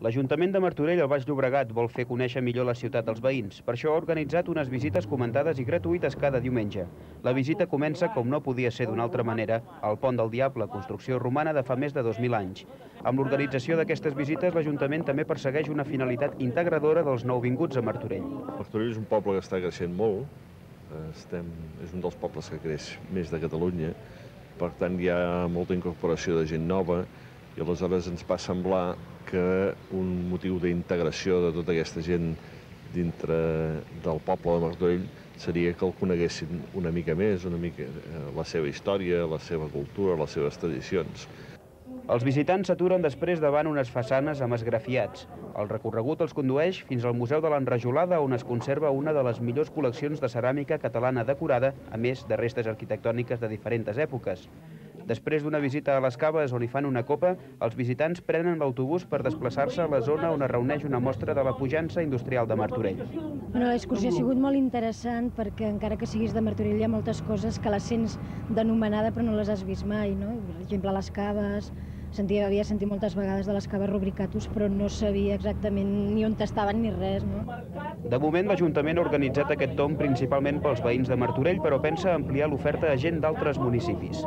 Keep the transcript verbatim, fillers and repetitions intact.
L'Ajuntament de Martorell, al Baix Llobregat, vol fer conèixer millor la ciutat als veïns. Per això ha organitzat unes visites comentades i gratuïtes cada diumenge. La visita comença, com no podia ser d'una altra manera, al Pont del Diable, construcció romana de fa més de dos mil anys. Amb l'organització d'aquestes visites, l'Ajuntament també persegueix una finalitat integradora dels nouvinguts a Martorell. Martorell és un poble que està creixent molt. Estem, és un dels pobles que creix més de Catalunya. Per tant, hi ha molta incorporació de gent nova i aleshores ens va semblar que un motiu d'integració de tota aquesta gent dintre del poble de Martorell seria que el coneguessin una mica més, una mica la seva història, la seva cultura, les seves tradicions. Els visitants s'aturen després davant unes façanes amb esgrafiats. El recorregut els condueix fins al Museu de l'Enrajolada, on es conserva una de les millors col·leccions de ceràmica catalana decorada, a més de restes arquitectòniques de diferents èpoques. Després d'una visita a les caves on hi fan una copa, els visitants prenen l'autobús per desplaçar-se a la zona on es reuneix una mostra de la pujança industrial de Martorell. Bueno, l'excursió ha sigut molt interessant perquè encara que siguis de Martorell hi ha moltes coses que les sents d'anomenada però no les has vist mai, no? Per exemple, les caves. Sentia, havia sentit moltes vegades de les caves Rubricatus, però no sabia exactament ni on estaven ni res, no? De moment, l'Ajuntament ha organitzat aquest tomb principalment pels veïns de Martorell, però pensa ampliar l'oferta a gent d'altres municipis.